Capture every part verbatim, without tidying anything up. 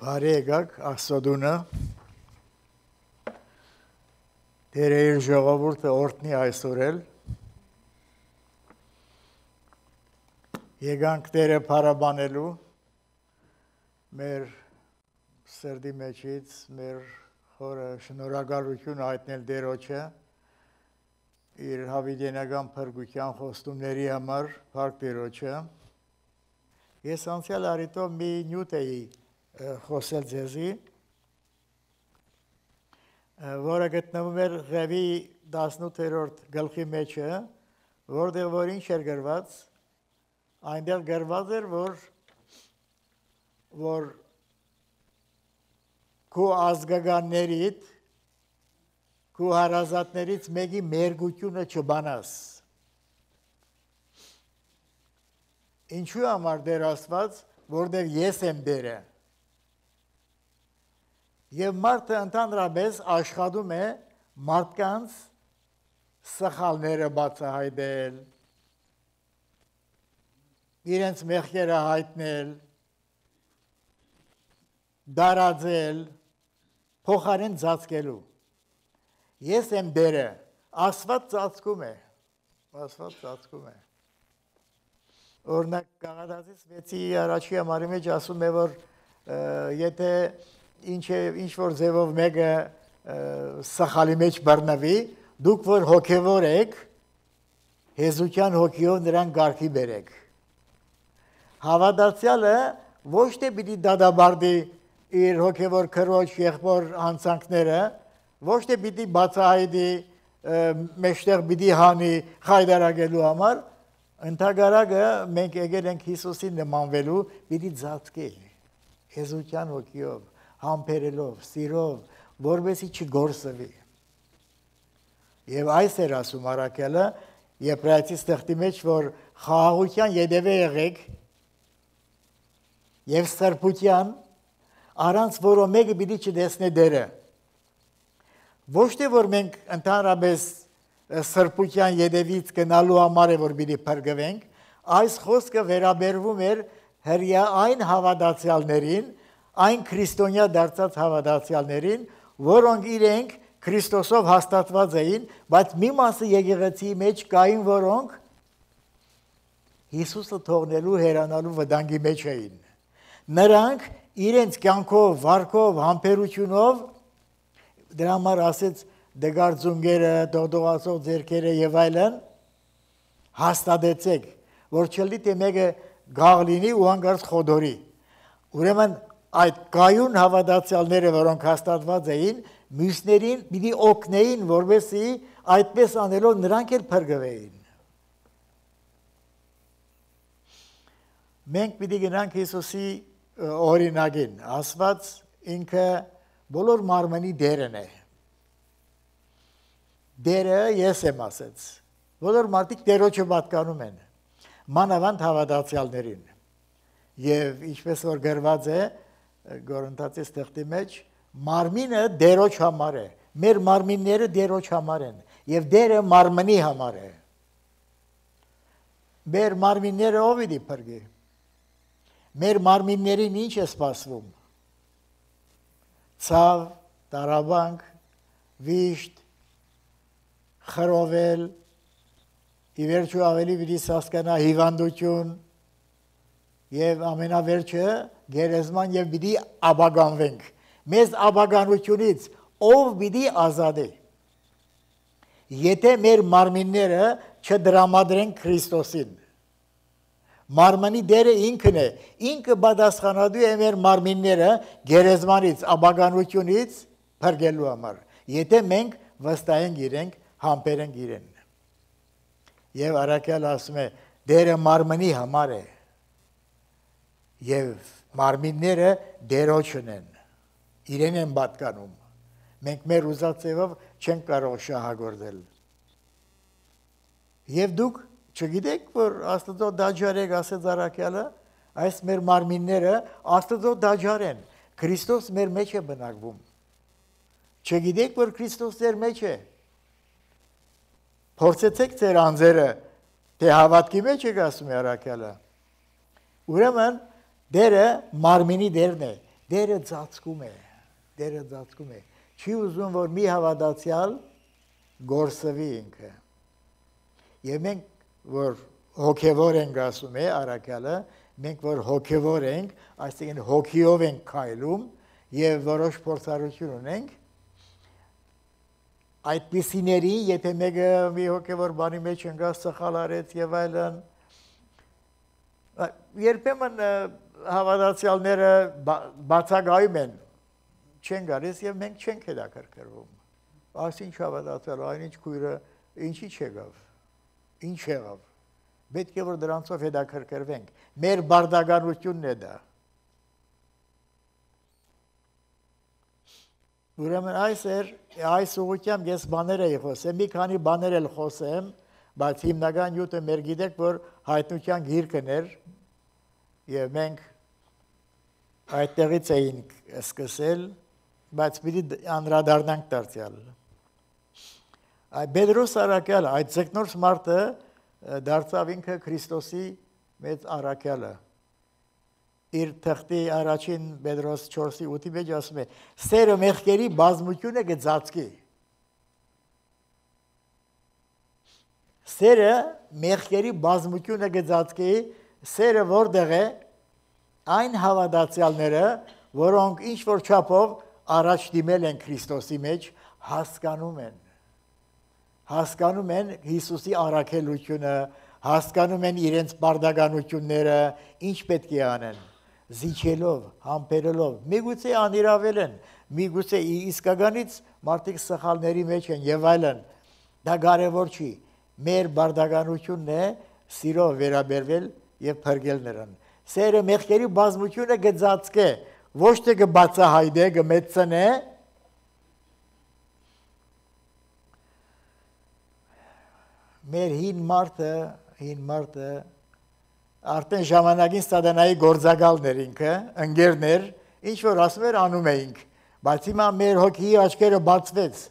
Բարի եկաք Աստծո Տերը իր ժողովուրդը օրհնի այսօր էլ եկանք Տերը փառաբանելու մեր սրտի մեջից մեր խորը շնորհակալություն հայտնել Տերոջը իր հավիտենական փրկության խոստումների համար փառք Տերոջը ես անցյալ առիթով մի նյութ էի խոսել ձեզի որը գտնվում էր Ղևի տասնութերորդ գլխի մեջը, որտեղ որ ինչ էր գրված, այնտեղ գրված էր, որ որ քո ազգականներից, քո հարազատներից մեկի մերգությունը չբանաս։ Ինչու համար Տեր Աստված, որտեղ ես եմ Տերը։ Եվ մարդը ընդհանրապես աշխատում է մարդկանց սխալները բացահայտել, իրենց մեղքերը հայտնել, դարաձել, փոխարեն ծածկելու։ Ես եմ Տերը, Աստված ծածկում է, Աստված ծածկում է։ Օրինակ Գաղատացիս վեցի առաջի համարի մեջ ասում է, որ եթե ինչ որ ձևով մեկը սխալի մեջ բռնվի, դուք որ հոգևոր եք, հեզության հոգիով նրան գարքի բերեք։ Հավատացյալը ոչ թե պիտի դադարի իր հոգևոր քրոջ եղբոր հանցանքները, ոչ թե պիտի բացահայտի մեջտեղ պիտի հանի խայդարակելու համար, ընդհակառակը մենք եկել ենք Հիսուսին նմանվելու, պիտի ծածկի հեզության հոգիով, համբերելով, սիրով, որովհետեւ չգործվի։ Եվ այս էր ասում առաքյալը Եբրայեցիս թղթի մեջ, որ խաղաղության ետևե եղեք եւ սրբության, առանց որո մեկը պիտի չտեսնե Տերը։ Ոչ թե որ մենք ընդհանրապես սրբության ետևից գնալու համար է որ պիտի փրկվենք, այս խոսքը վերաբերվում էր հրյա այն հավատացյալներին, այն քրիստոնյա դարձած հավատացյալներին, որոնք իրենք Քրիստոսով հաստատված էին, բայց մի մասը եկեղեցիի մեջ կային, որոնք Հիսուսը թողնելու հեռանալու վտանգի մեջ էին։ Նրանք իրենց կյանքով, վարքով, համբերությունով, դրա համար ասեց դգարձունգերը, դողդողացող ձեռքերը եւ այլն, հաստատեցեք, որ չլինի թե մեկը գաղ լինի ու հանկարծ խոդորի։ Ուրեմն այդ կայուն հավատացյալները, որոնք հաստատված էին, մյուսներին պիտի օգնեին, որովհետեւ այդպես անելով նրանք էլ փրկվեին։ Մենք պիտի գնանք Հիսուսի օրինակին, Աստված ինքը բոլոր մարմնի Տերն է։ Տերը ես եմ ասեց։ Բոլոր մարդիկ Տերոջը պատկանում են, մանավանդ հավատացյալներին։ Եվ ինչպես որ գրված է Գորընթացիս թղթի մեջ, մարմինը Տերոջ համար է, մեր մարմինները Տերոջ համար են, եւ Տերը մարմնի համար է։ Մեր մարմինները ով պիտի փրկի։ Մեր մարմիններին ինչ է սպասվում։ Ցավ, տարաբանք, վիշտ, խռովել, ի վերջո ավելի պիտի հասկանա հիվանդություն եւ ամենավերջը գերեզման եւ պիտի աբագանվենք։ Մեզ աբագանությունից ով պիտի ազատի։ Եթե մեր մարմինները չդրամադրեն Քրիստոսին։ Մարմնի Տերը ինքն է, ինքը պատասխանատու է մեր մարմինները գերեզմանից, աբագանությունից փրկելու համար։ Եթե մենք վստահենք իրենք, համբերենք իրեն։ Եվ առաքյալը ասում է, Տերը մարմնի համար է։ Եվ մարմինները Տերոջն են, իրեն են պատկանում։ Մենք մեր ուզած ձևով չենք կարող շահագործել։ Եվ դուք չգիտեք, որ Աստծո դաջար եք, ասեց առաքյալը, այս մեր մարմինները Աստծո դաջար են, Քրիստոս մեր մեջ է բնակվում։ Չգիտեք, որ Քրիստոս ձեր մեջ է։ Փորձեցեք ձեր անձերը, թե հավատքի մեջ եք, ասում է առաքյալը։ Ուրեմն Տերը մարմինի Տերն է, դերը ծածկում է, դերը ծածկում է, չի ուզում, որ մի հավատացյալ գործվի ինքը։ Եվ մենք, որ հոգևոր ենք ասում է առաքյալը, մենք որ հոգևոր ենք, այսինքն հոգիով ենք քայլում եւ որոշ փորձառություն ունենք, այդպիսիների, եթե մեկը մի հոգևոր բանի մեջ ընկած սխալ արեց եւ այլն, երբեմն հավատացյալները բացակայում են, չեն գալիս եւ մենք չենք հետաքրքրվում։ Այսինչ հավատացյալ, այնինչ քույրը ինչի չեղավ, ինչ եղավ։ Պետք է որ դրանցով հետաքրքրվենք։ Մեր բարդականությունն է դա։ Ուրեմն այս էր, այս ուղղությամբ ես բաներ էի խոսեմ, մի քանի բաներ էլ խոսեմ, բայց հիմնական նյութը մեր գիտեք, որ հայտնության գիրքն էր, եւ մենք այդտեղից էինք սկսել, բայց պիտի անդրադառնանք դարձյալ։ Պետրոս առաքյալը, այդ ձկնորս մարդը դարձավ ինքը Քրիստոսի մեծ առաքյալը։ Իր թղթի առաջին Պետրոս չորսի ութի մեջ ասում է. «Սերը մեղքերի բազմությունը կծածկի»։ Սերը մեղքերի բազմությունը կծածկի, սերը որտեղ է, այն հավատացյալները, որոնք ինչ որ չափով առաջ դիմել են Քրիստոսի մեջ, հասկանում են։ Հասկանում են Հիսուսի առաքելությունը, հասկանում են իրենց բարդականությունները, ինչ պետք է անեն, զիջելով, համբերելով, միգուցե անիրավել են, միգուցե իսկականից մարդիկ սխալների մեջ են եւ այլն, դա կարևոր չի, մեր բարդականությունն է սիրով վերաբերվել եւ փրկել նրան։ Սերը մեղքերի բազմությունը կծածկե, ոչ թե կբացահայտե, կմեծնե, մեր հին մարդը, հին մարդը, արդեն ժամանակին սատանայի գործակալներ ինքը, ընկերներ, ինչ որ ասում էր անում էինք, բայց հիմա մեր հոգիի աչքերը բացվեց։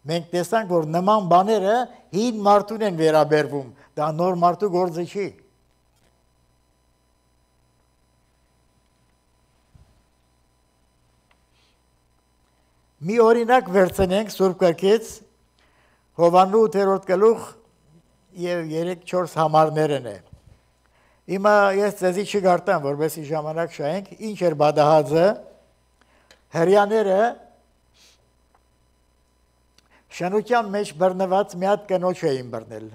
Մենք տեսանք, որ նման բաները հին մարդուն են վերաբերվում, դա նոր մարդու գործը չի։ Մի օրինակ վերցնենք Սուրբ Գրքից, Հովհաննու ութերորդ գլուխ եւ երեք-չորս համարներն է։ Հիմա ես ձեզի չգարտամ, որովհետեւ ժամանակ շահենք, ինչ էր բադահածը, հрьяաները շնության մեջ բռնված մի հատ կնոջ էին բռնել։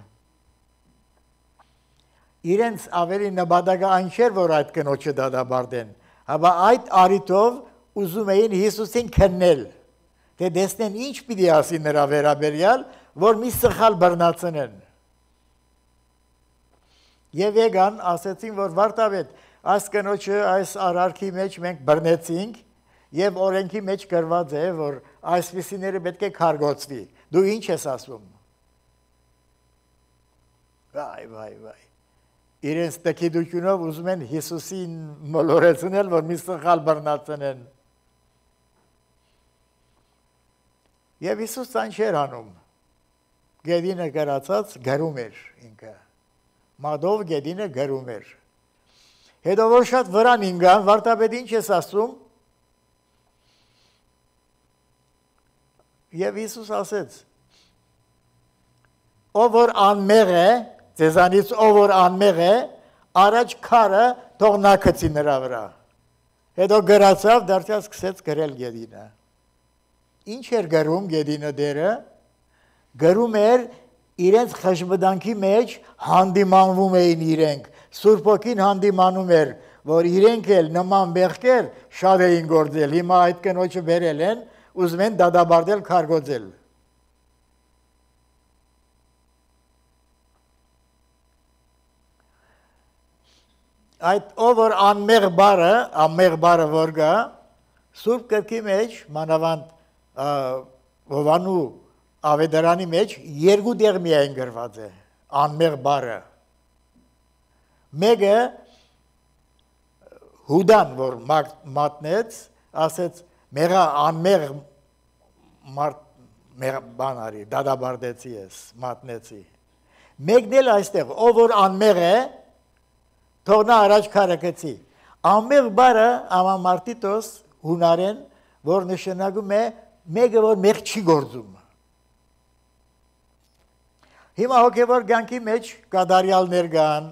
Իրենց ավելի նպատակը այն չէր, որ այդ կնոջը դատաբարդեն, հապա այդ առիթով ուզում էին Հիսուսին քննել, թե տեսնեն ինչ պիտի ասի նրա վերաբերյալ, որ մի սխալ բռնացնեն։ Եվ եկան, ասեցին, որ վարդապետ, այս կնոջը այս արարքի մեջ մենք բռնեցինք եւ օրենքի մեջ գրված է, որ այսպիսիները պետք է քարգոցվի։ Դու ինչ ես ասում։ Վայ, վայ, վայ։ Իրենց տկիդությունով ուզում են Հիսուսին մոլորեցնել, որ մի սխալ բռնացնեն։ Եվ Հիսուս այն չէր անում։ Գետինը գրացած գրում էր ինքը։ Մադով գետինը գրում էր։ Հետո որ շատ վրան ինգան, վարդապետ ինչ ես ասում։ Եվ Հիսուս ասեց. ով որ անմեղ է, ձեզանից ով որ անմեղ է, առաջ քարը թող նա գցի նրա վրա։ Հետո գրացավ, դարձյալ սկսեց գրել գետինը։ Ինչ էր գրում գետինը դերը։ Գրում էր իրենց խժբդանքի մեջ հանդիմանվում էին իրենք, Սուրբ Հոգին հանդիմանում էր, որ իրենք էլ նման մեղքեր շատ էին գործել, հիմա այդ կնոջը բերել են, ուզում են դատաբարդել, քարգոծել։ Այդ ով որ անմեղ բառը, անմեղ բառը որ գա, Սուրբ Գրքի մեջ, մանավանդ Հովհաննու Ավետարանի մեջ երկու տեղ միայն գրված է անմեղ բառը։ Մեկը Հուդան, որ մատնեց, ասեց մեղա անմեղ բան արի, դատաբարդեցի ես, մատնեցի։ Մեկն էլ այստեղ, ով որ անմեղ է, թող նա առաջ քարը գցի։ Ամեղ բարը ամամարտիտոս հունարեն, որ նշանակում է մեկը որ մեղ չի գործում։ Հիմա հոգևոր կյանքի մեջ կատարյալներ կան,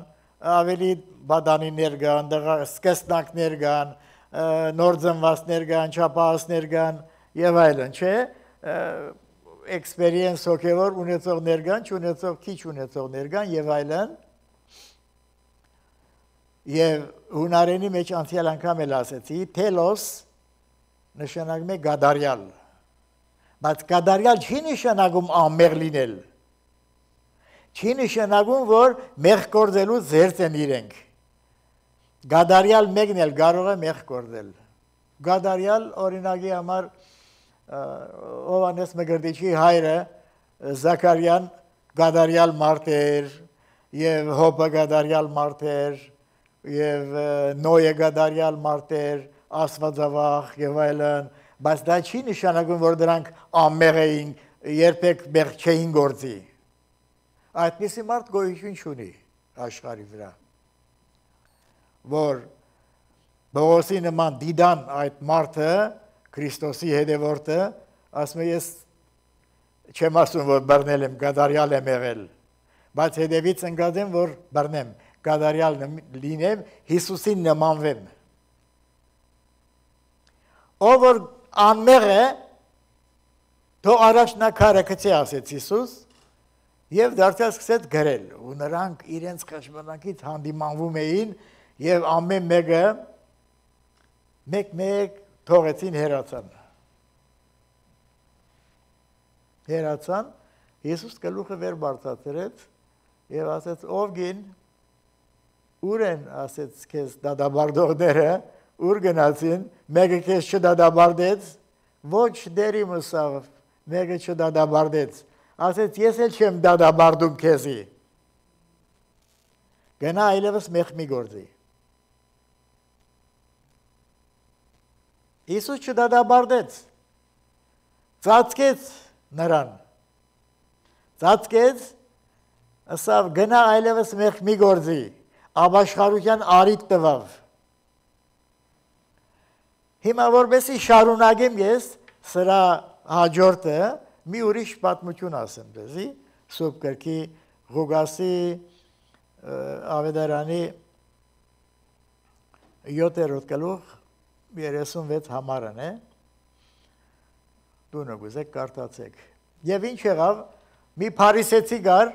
ավելի բադանիներ կան, սկսնակներ կան, նոր ծնվածներ կան, չափահասներ կան եւ այլն, չէ՞։ Experience հոգևոր ունեցողներ կան, չունեցող քիչ ունեցողներ կան եւ այլն։ Եվ հունարենի մեջ անցյալ անգամ էլ ասեցի, թելոս նշանակում է գադարյալ։ Բայց գադարյալ չի նշանակում ամեղ լինել։ Չի նշանակում, որ մեղ գործելու զերծ են իրենք։ Գադարյալ մեկն էլ կարող է մեղ գործել։ Գադարյալ օրինակի համար Հովհաննես Մկրտիչի հայրը Զաքարյան գադարյալ մարդ էր, եւ Հոբը գադարյալ մարդ էր, եւ Նոյը գադարյալ մարդ էր, Աստվածավախ եւ այլն, բայց դա չի նշանակում, որ դրանք ամեղ էին, երբեք մեղ չէին գործի։ Այդպիսի մարդ գոյություն չունի աշխարհի վրա, որ Պողոսի նման դիդան այդ մարդը, Քրիստոսի հետևորդը, ասում է ես չեմ ասում, որ բռնել եմ, գադարյալ եմ եղել, բայց հետևից ընկած եմ, որ բռնեմ, գադարյալ լինեմ, Հիսուսին նմանվեմ։ Ով որ անմեղ է, թող առաջնակարը գցի, ասեց Հիսուս, եւ դարձյալ սկսեց գրել, ու նրանք իրենց խաչմանակից հանդիմանվում էին եւ ամեն մեկը մեկ-մեկ թողեցին հերացան։ Հերացան, Հիսուս գլուխը վեր բարձրացրեց եւ ասեց. «Ով գին, ուր են», ասեց, «քեզ դադարդողները, ուր գնացին, մեկը քեզ չդադարդեց, ոչ դերիմս ավ, մեկը չդադարդեց»։ Ասեց, ես էլ չեմ դադարդում քեզի։ Գնա այլևս մեղ մի գործի։ Հիսուս չդադարդեց, ծածկեց նրան, ծածկեց, ասավ, գնա այլևս մեղ մի գործի, ապաշխարության արիք տվավ։ Հիմա որպեսի շարունակեմ ես սրա հաջորդը, մի ուրիշ պատմություն ասեմ դեզի, Սուրբ գրքի Ղուկասի ավետարանի յոթերորդ գլուխ երեսունվեց համարն է, դու նգուզեք կարդացեք։ Եվ ինչ եղավ, մի փարիսեցի գար,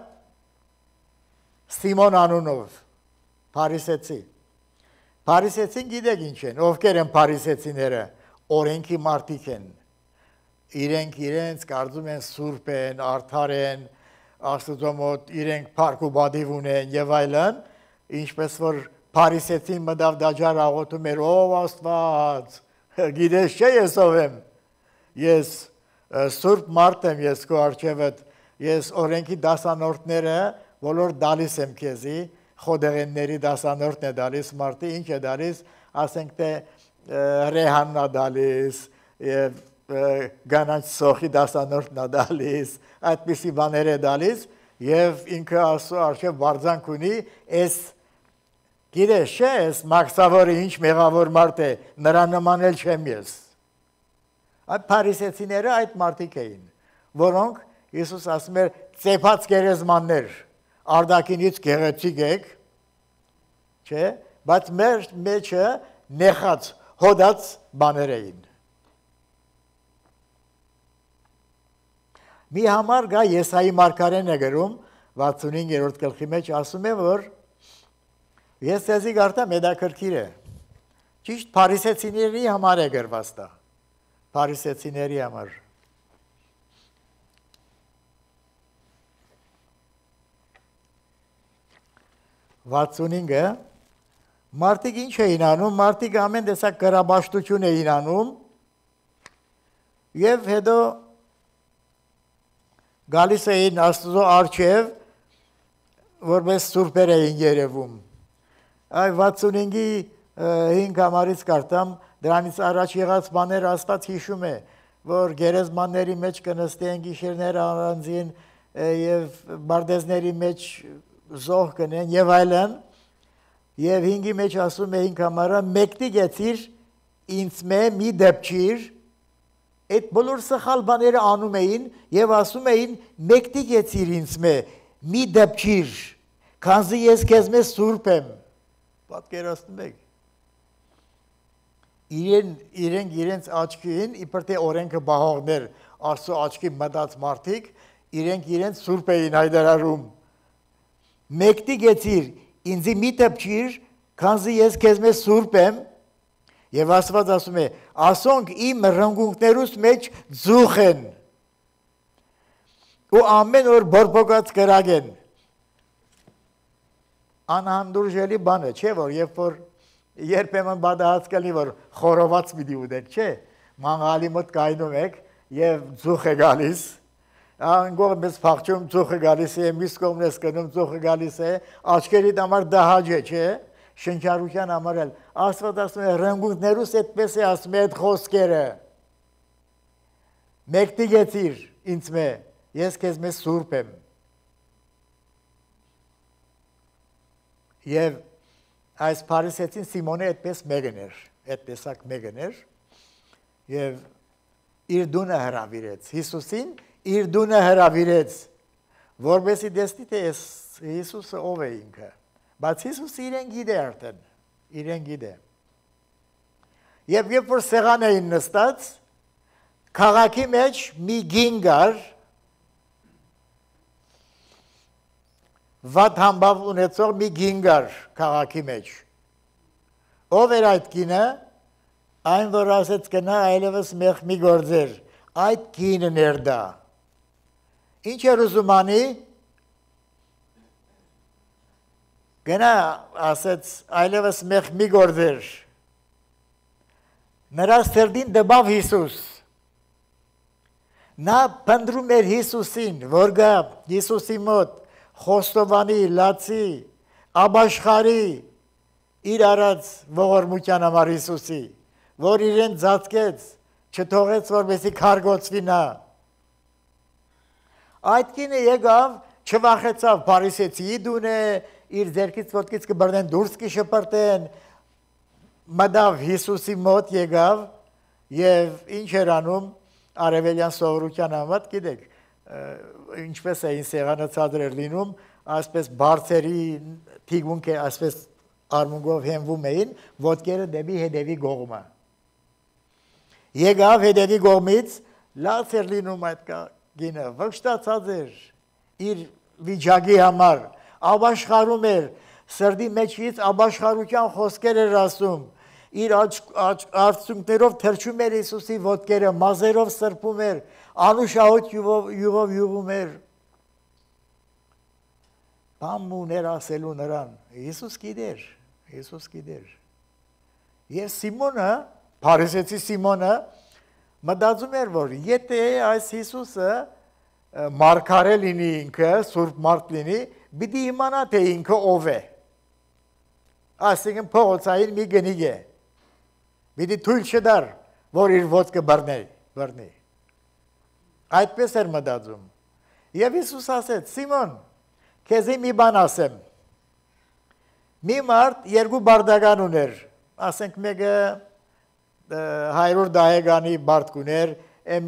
Սիմոն անունով, փարիսեցի։ Փարիսեցին գիտեք ինչ են, ովքեր են փարիսեցիները, օրենքի մարդիկ են։ Իրենք իրենց կարծում են սուրբ են, արդար են, Աստծո մոտ իրենք փառք ու բադիվ ունեն եւ այլն, ինչպես որ փարիսեցին մտավ դաջար աղոթում էր, ով Աստված, գիտես չէ ես ով եմ, ես սուրբ մարդ եմ, ես քո առջևդ, ես օրենքի դասանորդները բոլոր դալիս եմ քեզի, խոդեղենների դասանորդն է դալիս, մարդը ինչ է դալիս, ասենք թե ռեհանն է դալիս եւ գանաչ սոխի դասանորդն է դալիս, այդպիսի բաներ է դալիս եւ ինքը Աստծո առջև բարձանք ունի, այս գիտես չէ, այս մաքսավորը ինչ մեղավոր մարդ է, նրա նման էլ չեմ ես։ Այդ փարիսեցիները այդ մարդիկ էին, որոնք Հիսուս ասում էր ծեփած գերեզմաններ, արդակինից գեղեցիկ եք, չէ, բայց մեր մեջը նեխած, հոդած բաներ էին։ Մի համար գա Եսայի մարգարեն է գրում, վաթսունհինգերորդ գլխի մեջ ասում է, որ ես ձեզի գարտամ հետաքրքիր է, ճիշտ փարիսեցիների համար է գրված դա, փարիսեցիների համար։ վաթսունհինգը, մարդիկ ինչ էին անում, մարդիկ ամեն տեսակ կրաբաշտություն էին անում եւ հետո գալիս էին Աստծո առջև, որպես սուրբեր էին երևում։ Այ վաթսունհինգի հինգ համարից կարդամ, դրանից առաջ եղած բաներ Աստված հիշում է, որ գերեզմանների մեջ կնստեն գիշերներ առանձին եւ բարդեզների մեջ զոհ կնեն եւ այլն, Եվ հինգի մեջ ասում է հինգ համարը մեկտի գեցիր ինձ մե մի դեպչիր այդ բոլոր սխալ բաները անում էին եւ ասում էին մեկտի գեցիր ինձ մե մի դեպչիր քանզի ես քեզ մեզ սուրբ եմ պատկերացնում եք իրեն իրենք իրենց աչքին իբր թե օրենքը բահողներ Աստծո աչքի մտած մարդիկ իրենք իրենց սուրբ էին հայտարարում մեկտի գեցիր ինձի մի դեպչիր քանզի ես քեզ մեզ սուրբ եմ Եվ Աստված ասում է, ասոնք իմ ռնգունքներուս մեջ ձուխ են, ու ամեն օր բորբոքած կրակ են։ Անհանդուրժելի բան է, չէ՞ որ երբ որ երբեմն բադահած կլինի, որ խորոված պիտի ուտեք, չէ՞, մանգալի մոտ կայնում եք եւ ձուխ է գալիս, անգոր մեզ փախչում ձուխը գալիս է, մյուս կողմն ես կնում ձուխը գալիս է, աչքերիդ համար դահաճ է, չէ՞։ Շնչառության համար էլ Աստված ասում է ռնգունքներուս այդպես է ասում է այդ խոսքերը մեկտի գեցիր ինձ մե ես քեզ մեզ սուրբ եմ եւ այս փարիսեցին Սիմոնը այդպես մեկն էր այդպեսակ մեկն էր եւ իր դունը հրավիրեց Հիսուսին իր դունը հրավիրեց որովհետեւ դեսնի թե Հիսուսը ով է ինքը Բայց Հիսուս իրեն գիտե արդեն, իրեն գիտե։ Եվ երբ որ սեղան էին նստած, քաղաքի մեջ մի գին կար, վատ համբավ ունեցող մի գին կար քաղաքի մեջ։ Ով էր այդ գինը, այն որ ասեց կնա այլևս մեղ մի գործեր, այդ գինն էր դա։ Ինչ էր ուզում անի, Գնա ասեց այլևս մեղ մի գործեր նրա սրտին դբավ Հիսուս նա փնտրում էր Հիսուսին որ գա Հիսուսի մոտ խոստովանի լացի աբաշխարի իր արած ողորմության համար Հիսուսի որ իրեն ծածկեց չթողեց որպեսզի քարգոցվի նա այդ կինը եկավ չվախեցավ փարիսեցի դուն է իր ձերքից ոտքից կբռնեն դուրս կշպրտեն մտավ Հիսուսի մոտ եկավ եւ ինչ էր անում արևելյան սովորության համադ գիտեք ինչպես էին սեղանը ցածր լինում այսպես բարձերի թիգունք է այսպես արմունգով հենվում էին ոտքերը դեպի հետևի կողմը եկավ հետևի կողմից լաց էր լինում այդ գինը վշտացած էր իր վիճակի համար աբաշխարում էր, սրդի մեջից աբաշխարության խոսքեր էր ասում, իր արցունքներով թրջում էր Հիսուսի ոտքերը, մազերով սրբում էր, անուշահոտ յուղով յուղում էր։ Բան ուներ ասելու նրան, Հիսուս գիտեր, Հիսուս գիտեր։ Եվ Սիմոնը, փարիսեցի Սիմոնը, մտածում էր, որ եթե այս Հիսուսը մարգարե լինի ինքը, սուրբ մարդ լինի, Բիդի իմանա թե ինքը ով է, ասիկն փողոցային մի գնիկ է, բիդի թույլ չդար, որ իր ոտքը բռնի, այդպես էր մտածում, և Հիսուս ասեց, Սիմոն, քեզի մի բան ասեմ, մի մարդ երկու բարդական ուներ, ասենք մեկը հայրոր դահեգանի բարդ կուներ,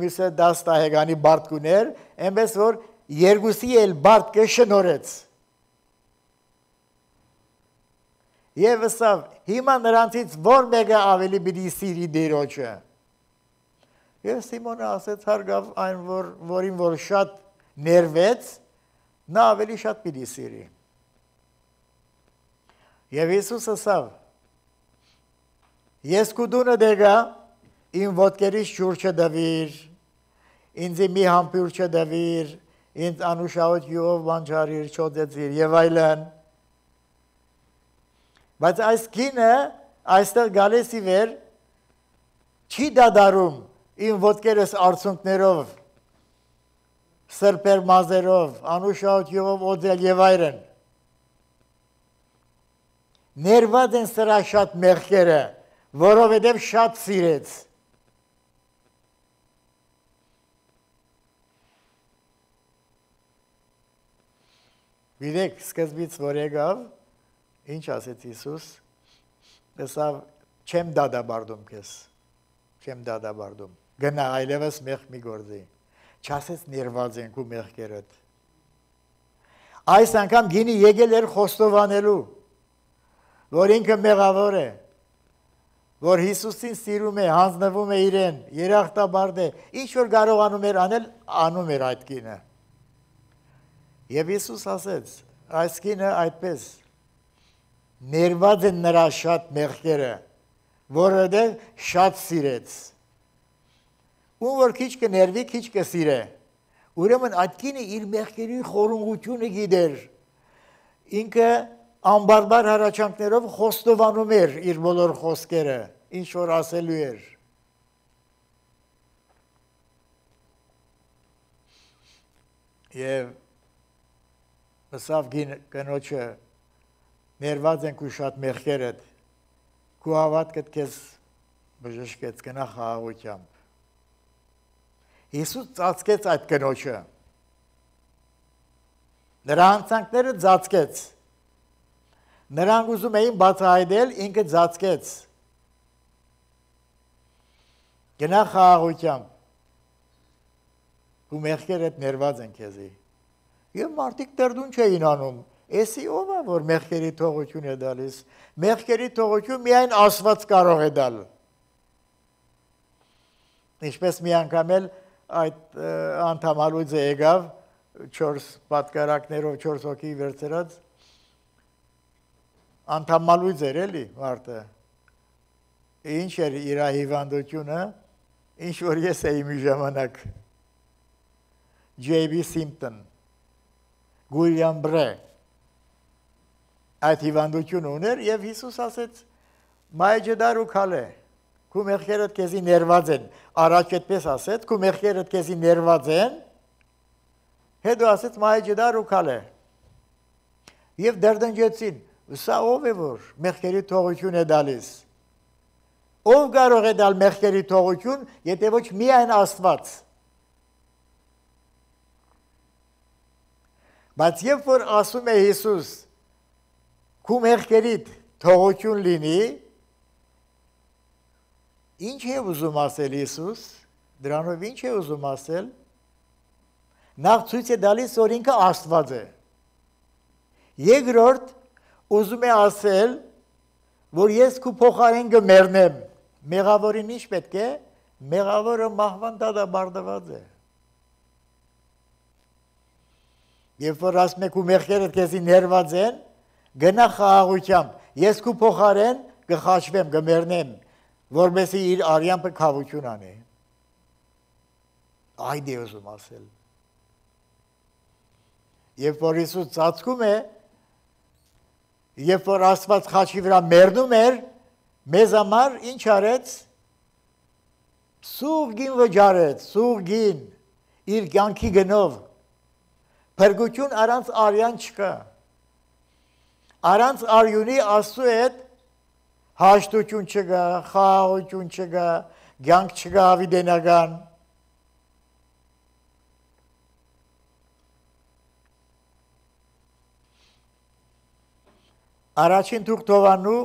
մյուսը դաս դահեգանի բարդ կուներ, այնպես որ երկուսի էլ բարդ կշնորեց, Եվ վստահ, հիմա նրանցից որ մեկը ավելի պիտի սիրի Տիրոջը։ Եվ Սիմոնը ասեց հարգավ այն, որ, որին որ շատ ներվեց, նա ավելի շատ պիտի սիրի։ Եվ Հիսուս ասավ, ես քու դունը դեգա, իմ ոտքերից ջուր չդվիր, ինձ մի համբույր չդվիր, ինձ անուշահոտ յուղով բանջարիր, չոդեցիր եւ այլն։ Բայց այս կինը այստեղ գալիս ի վեր չի դադարում իմ ոտքերս արցունքներով, սրբեր մազերով, անուշահոտ յուղով օձել եւ այլն։ Ներված են սրա շատ մեղքերը, որովհետև շատ սիրեց։ Գիտեք, սկզբից որ եկավ, Ինչ ասեց Հիսուս։ Ասավ չեմ դադարում քեզ։ Չեմ դադարում։ Գնա այլևս մեղ մի գործի։ Չասեց ներված ենք ու մեղքերդ։ Այս անգամ գինի եկել էր խոստովանելու, որ ինքը մեղավոր է, որ Հիսուսին սիրում է, հանձնվում է իրեն, երախտաբարդ է, ինչ որ կարողանում էր անել, անում էր այդ կինը։ Եվ Հիսուս ասեց, այս կինը այդպես ներված են նրա շատ մեղքերը, որովհետև շատ սիրեց։ Ու որ քիչ կներվի, քիչ կսիրե։ Ուրեմն այդ կինը իր մեղքերի խորունգությունը գիտեր։ Ինքը անբարբար հառաչանքներով խոստովանում էր իր բոլոր խոսքերը, ինչ որ ասելու էր։ Եվ ասավ կնոջը ներված ենք ու շատ մեղքերդ, քու հավատքդ քեզ բժշկեց, գնա խաղաղությամբ։ Հիսուս ծածկեց այդ կնոջը։ Նրա հանցանքները ծածկեց։ Նրանք ուզում էին բացահայտել, ինքը ծածկեց։ Գնա խաղաղությամբ։ Ու մեղքերդ ներված են քեզի։ Եվ մարդիկ դեռ չէին անում։ Էսի ով է, որ մեղքերի թողություն է տալիս։ Մեղքերի թողություն միայն Աստված կարող է տալ։ Ինչպես մի անգամ էլ այդ անդամալույձը եկավ չորս պատկարակներով չորս հոգի վերցրած անդամալույձ էր էլի մարդը ինչ էր իր հիվանդությունը ինչ որ ես էի մի ժամանակ Ջեյ Բի Սիմպտոն Գուիլյամ Բրե այդ հիվանդությունը ուներ եւ Հիսուս ասեց մայջդար ու քալե քու մեղքերդ քեզի ներված են, առաջ այդպես ասեց, քու մեղքերդ քեզի ներված են, հետո ասեց մայջդար ու քալե։ Եվ դերդնջեցին, սա ով է որ մեղքերի թողություն է տալիս։ Ով կարող է տալ մեղքերի թողություն, եթե ոչ միայն Աստված։ Բայց երբ որ ասում է Հիսուս, քու մեղքերիդ թողություն լինի, ինչ է ուզում ասել Հիսուս, դրանով ինչ է ուզում ասել, նախ ցույց է տալիս, որ ինքը Աստված է։ Երկրորդ ուզում է ասել, որ ես քու փոխարեն կմեռնեմ, մեղավորին ինչ պետք է, մեղավորը մահվան դատաբարդված է։ Երբ որ ասում եք ու մեղքերդ քեզի ներված են, գնա խաղաղությամբ, ես քու փոխարեն կխաչվեմ, կմեռնեմ, որովհետեւ իր արյամը քավություն անի։ Այդ է ուզում ասել։ Երբ որ Հիսուս ծածկում է, երբ որ Աստված խաչի վրա մեռնում էր, մեզ համար ինչ արեց։ Սուղ գին վճարեց, սուղ գին, իր կյանքի գնով։ Փրկություն առանց արյան չկա։ Առանց արյունի Աստծո հետ հաշտություն չկա, խաղաղություն չկա, կյանք չկա հավիտենական։ Առաջին թուղթովանու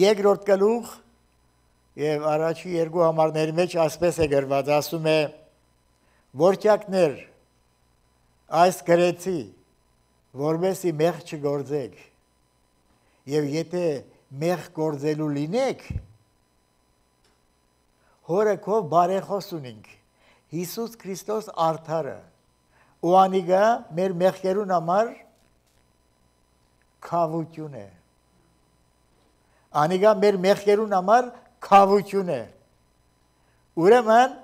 երկրորդ գլուխ եւ առաջի երկու համարների մեջ ասպես է գրված, ասում է. Որդյակներ, այս գրեցի, որովհետեւ մեղ չգործեք։ Եվ եթե մեղ գործելու լինեք, հորը քո բարեխոս ունենք, Հիսուս Քրիստոս արդարը, ու անիգա մեր մեղքերուն համար քավություն է։ Անիգա մեր մեղքերուն համար քավություն է։ Ուրեմն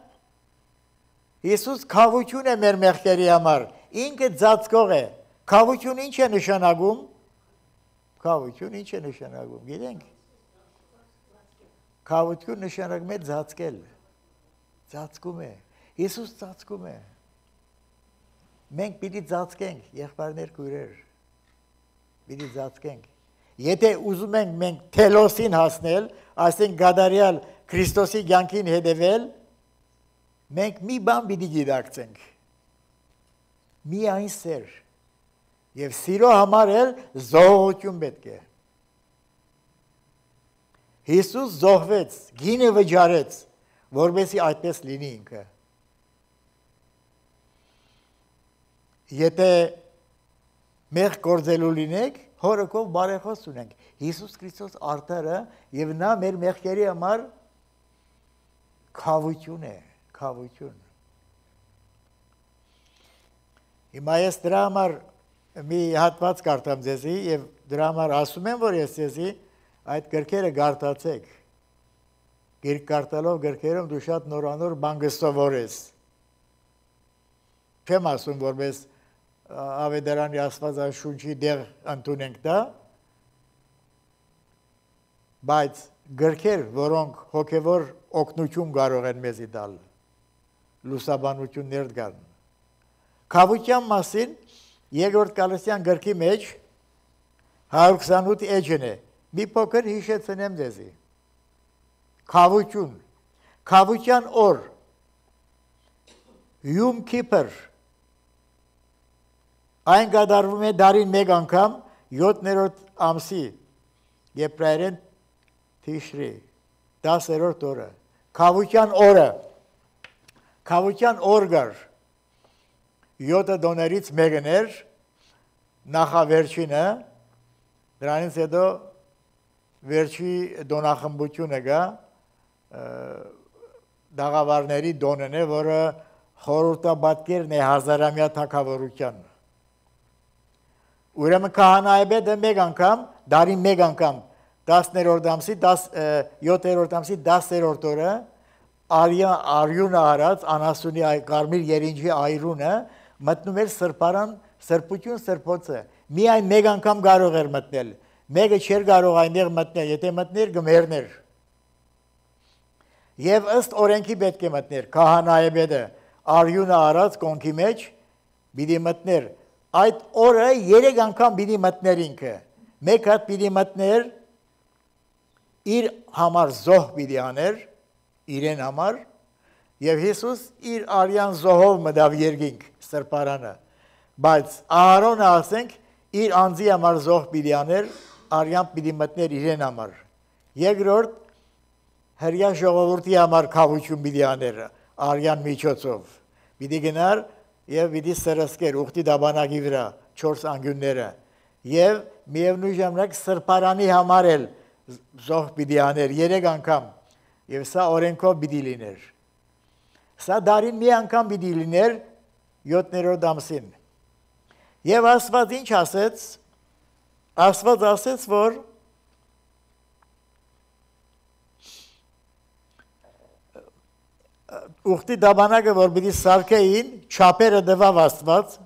Հիսուս քավություն է մեր մեղքերի համար, ինքը ծածկող է։ Քավություն ինչ է նշանակում։ Քավություն ինչ է նշանակում, գիտենք։ Քավություն նշանակում է ծածկել։ Ծածկում է։ Հիսուս ծածկում է։ Մենք պիտի ծածկենք, եղբայրներ քույրեր։ Պիտի ծածկենք։ Եթե ուզում ենք մենք թելոսին հասնել, այսինքն գադարյալ Քրիստոսի կյանքին հետևել, մենք մի բան պիտի գիտակցենք։ Միայն սեր։ Եվ սիրո համար էլ զոհություն պետք է։ Հիսուս զոհվեց, գինը վճարեց, որպեսզի այդպես լինի ինքը։ Եթե մեղ գործելու լինենք, հորը կով բարեխոս ունենք։ Հիսուս Քրիստոս արդարը եւ նա մեր մեղքերի համար քավություն է, քավություն։ Հիմա ես դրա համար մի հատված կարդամ ձեզի եւ դրա համար ասում եմ, որ ես ձեզի այդ գրքերը գարտացեք։ Գիրք գարտալով գրքերում դու շատ նորանոր բան կսովորես։ Չեմ ասում, որպես Ավետարանի Աստվածաշունչի դեղ ընդունենք դա, բայց գրքեր, որոնք հոգևոր օգնություն կարող են մեզի տալ, լուսաբանություններ կան։ Քավության մասին Երկրորդ Կալասյան գրքի մեջ հարյուր քսանութ էջն է։ Մի փոքր հիշեցնեմ ձեզի։ Քավություն, քավության օր, Յում Քիփր, այն կատարվում է դարին մեկ անգամ յոթերորդ ամսի, եբրայերեն Թիշրի, դասերորդ օրը, քավության օրը, քավության օր կար, յոթը դոներից մեկն էր, նախավերջինը, դրանից հետո վերջի դոնախմբությունը կա, դաղավարների դոնն է, որը խորհրդաբատկերն է հազարամյա թագավորության։ Ուրեմն քահանայապետը մեկ անգամ, դարին մեկ անգամ, տասներորդ ամսի, յոթերորդ ամսի դասերորդ օրը արյունը արած, անասունի կարմիր երինջի այրունը մտնում էր սրբարան, սրբություն սրբոցը, միայն մեկ անգամ կարող էր մտնել, մեկը չէր կարող այնտեղ մտնել, եթե մտներ գմերներ։ Եվ ըստ օրենքի պետք է մտներ, քահանայապետը արյունը արած կոնքի մեջ պիտի մտներ, այդ օրը երեք անգամ պիտի մտներ ինքը, մեկ հատ պիտի մտներ, իր համար զոհ պիտի աներ, իրեն համար, եւ Հիսուս իր արյան զոհով մտավ երկինք սրբարանը, բայց Ահարոնը ասենք իր անձի համար զոհ պիտի աներ, արյան պիտի մտներ իրեն համար։ Երկրորդ հրյա ժողովրդի համար քավություն պիտի աներ արյան միջոցով, պիտի գնար եւ պիտի սրսկեր ուխտի դաբանակի վրա չորս անկյունները եւ միևնույն ժամանակ սրբարանի համար էլ զոհ պիտի աներ երեք անգամ եւ սա օրենքով պիտի լիներ։ Սա դարին մի անգամ պիտի լիներ յոթերորդ ամսին։ Եվ Աստված ինչ ասեց, Աստված ասեց, որ ուխտի դաբանակը, որ պիտի սարքեին, չափերը տվավ Աստված,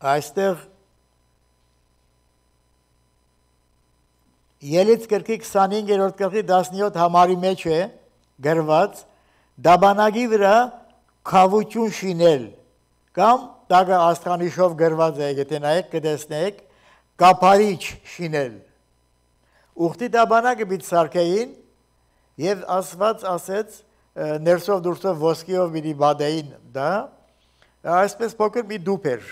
այստեղ Ելից գրքի քսանհինգերորդ գլխի տասնյոթ համարի մեջ է գրված դաբանագի վրա քավություն շինել կամ տագը աստղանիշով գրված է, եթե նայեք կտեսնեք, կափարիչ շինել։ Ուխտի դաբանակը պիտի սարքեին եւ Աստված ասեց ներսով դուրսով ոսկիով պիտի բադեին դա, այսպես փոքր մի դուփ էր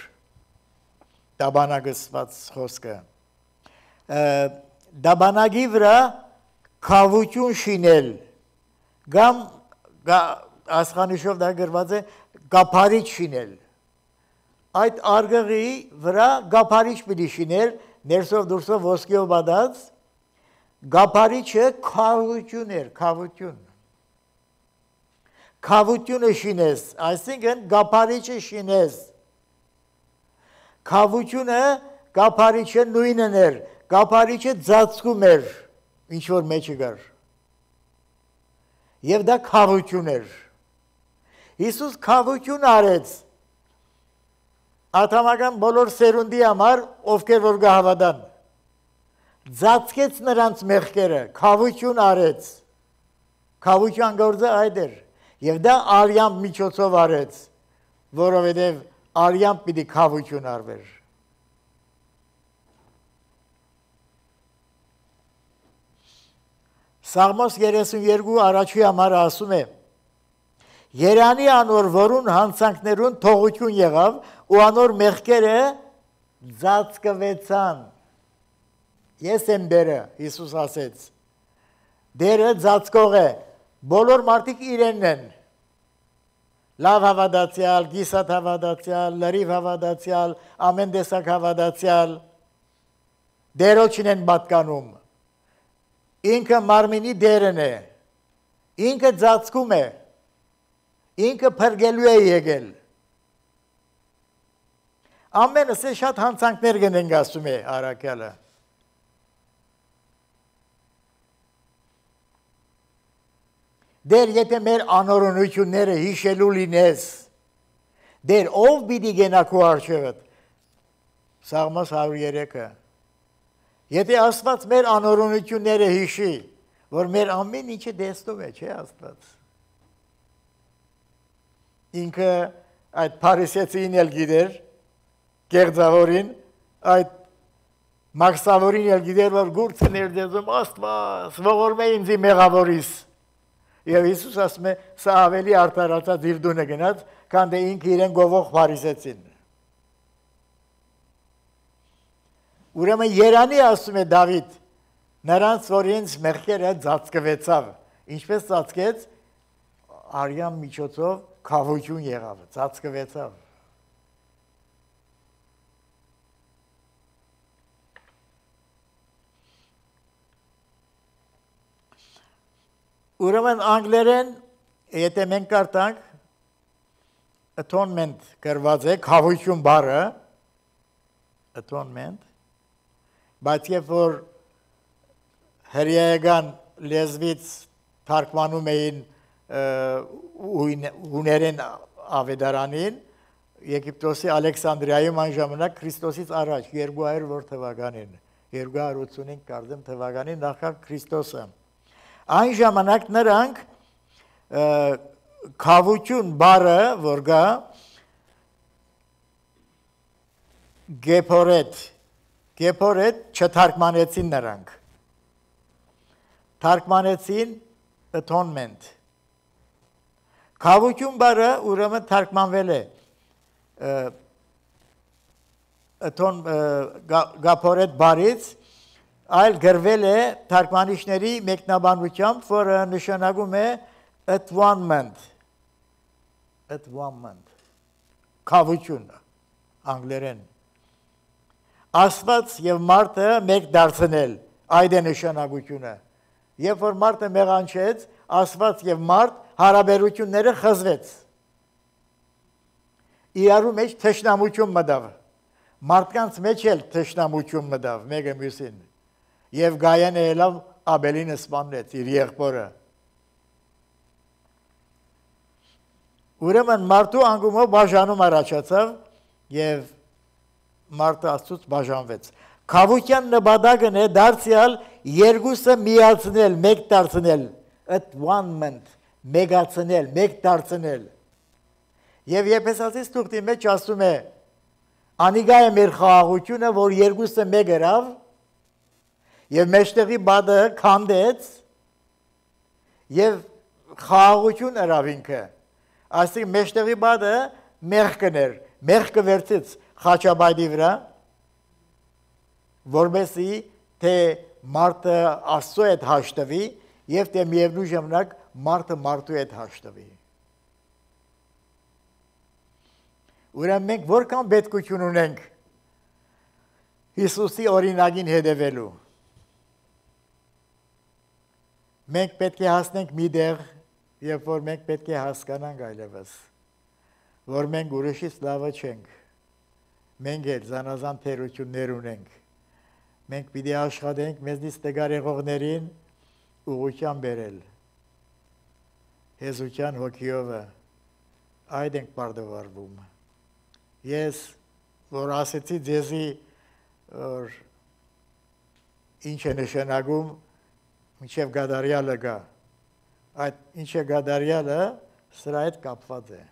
դաբանակսված խոսքը։ Դաբանագի վրա քավություն շինել կամ աստղանիշով դա գրված է կափարիչ շինել։ Այդ արգղի վրա կափարիչ պիտի շինել, ներսով դուրսով ոսկիով բադած, կափարիչը քավություն էր, քավություն։ Քավությունը շինես, այսինքն կափարիչը շինես։ Քավությունը կափարիչը նույնն էր, կափարիչը ծածկում էր, ինչ որ մեջը գար։ Եվ դա քավություն էր։ Հիսուս քավություն արեց ատամական բոլոր սերունդի համար, ովքեր որ կհավատան։ Ծածկեց նրանց մեղքերը, քավություն արեց։ Քավության գործը այդ էր։ Եվ դա արյան միջոցով արեց, որովհետև արյան պիտի քավություն արվեր։ Սաղմոս երեսունյոթ առաջի համարը ասում է. Երանի անոր որուն հանցանքներուն թողություն եղավ ու անոր մեղքերը ծածկվեցան։ Ես եմ դերը, Հիսուս ասեց։ Դերը ծածկող է, բոլոր մարդիկ իրենն են։ Լավ հավատացյալ, գիսատ հավատացյալ, լրիվ հավատացյալ, ամեն տեսակ հավատացյալ, դերոջին են պատկանում։ Ինքը մարմինի դերն է, ինքը ծածկում է, ինքը փրկելու է եկել։ Ամենս է շատ հանցանքներ գնենք ասում է առաքյալը։ Դեր եթե մեր անօրենությունները հիշելու լինես, դեր ով պիտի գնա քո առջևդ։ Սաղմոս հարյուր երեքը։ Եթե Աստված մեր անօրենությունները հիշի, որ մեր ամեն ինչը տեսնում է, չէ՞ Աստված։ Ինքը այդ փարիսեցին էլ գիտեր, գեղձավորին, այդ մաքսավորին էլ գիտեր, որ գուրցը ներդեզում Աստված, ողորմ է ինձի մեղավորիս։ Եվ Հիսուս ասում է, սա ավելի արդարացած իր դունը գնաց, քան թե ինքը իրեն գովող փարիսեցին։ Ուրեմն Երանի ասում է Դավիթ, նրանց որ ինձ մեղքերը ծածկվեցավ, ինչպես ծածկեց, արյան միջոցով քավություն եղավ, ծածկվեցավ։ Ուրեմն անգլերեն, եթե մենք կարդանք, atonement գրված է, քավություն բառը, atonement, բայց երբ որ հրեական լեզվից թարգմանում էին հուներեն ավետարանին, Եգիպտոսի Ալեքսանդրիայում այն ժամանակ Քրիստոսից առաջ երկու հարյուր թվականին, երկու հարյուր ութսունհինգ կարծեմ թվականին նախքան Քրիստոսը։ Այն ժամանակ նրանք քավություն բառը, որ գա գեփորետ, գեփորետ չթարգմանեցին նրանք։ Թարգմանեցին atonement։ Քավություն բառը ուրեմն թարգմանվել է ատոն գափորետ բառից, այլ գրվել է թարգմանիչների մեկնաբանությամբ, որը նշանակում է atonement, atonement, քավություն, անգլերեն։ Աստված եւ մարդը մեկ դարձնել, այդ է նշանակությունը։ Երբ որ մարդը մեղանչեց, Աստված եւ մարդ հարաբերությունները խզվեց։ Իրարու մեջ թշնամություն մտավ։ Մարդկանց մեջ էլ թշնամություն մտավ, մեկը մյուսին։ Եվ Գայանը ելավ Աբելին սպանեց իր եղբորը։ Ուրեմն մարդու անկումով բաժանում առաջացավ եւ մարդը Աստծուց բաժանվեց։ Քավության նպատակն է դարձյալ երկուսը միացնել, մեկ դարձնել, atonement, մեգացնել, մեկ դարձնել։ Եվ Եփեսացիս թուղթի մեջ ասում է. անիգա է մեր խաղաղությունը, որ երկուսը մեկ գրավ, եւ մեջտեղի բադը քանդեց, եւ խաղաղություն արավ ինքը։ Այսինքն մեջտեղի բադը մեղքն էր, մեղքը վերցից խաչաբայդի վրա, որովհետեւ թե մարդը Աստծո հետ հաշտվի եւ թե միևնույն ժամանակ մարդը մարդու հետ հաշտվի։ Ուրեմն մենք որքան պետքություն ունենք Հիսուսի օրինակին հետևելու։ Մենք պետք է հասնենք մի տեղ, երբ որ մենք պետք է հասկանանք այլևս, որ մենք ուրիշից լավը չենք։ Մենք էլ զանազան թերություններ ունենք։ Մենք պիտի աշխատենք մեզնից տգար եղողներին ուղղության բերել։ Հեզության հոգիովը այդ ենք պարտավորվում։ Ես որ ասեցի ձեզի որ ինչ է նշանակում մինչև գադարյալը գա, այդ ինչ է գադարյալը սրա հետ կապված է,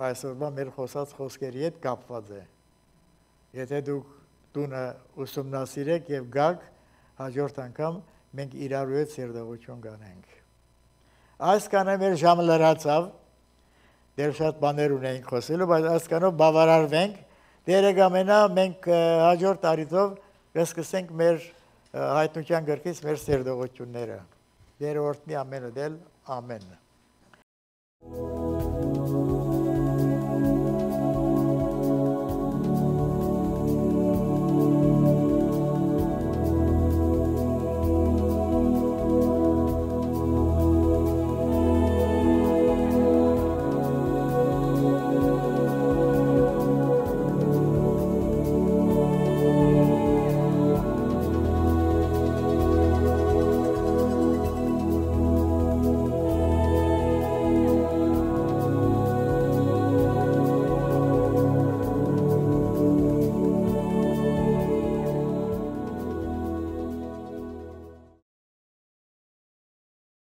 այսօրվա մեր խոսած խոսքերի հետ կապված է։ Եթե դուք տունը ուսումնասիրեք և գաք, հաջորդ անգամ մենք իրարու հետ սիրտողություն կանենք։ Այս կանը մեր ժամը լրացավ, դեր շատ բաներ ունենք խոսելու, բայց ասկանով բավարարվենք, դերեգամենա մենք հաջորդ տարիով կսկսենք մեր հայտնության գրքից մեր սերդողությունները, դեր օրտնի ամենը դել, ամեն։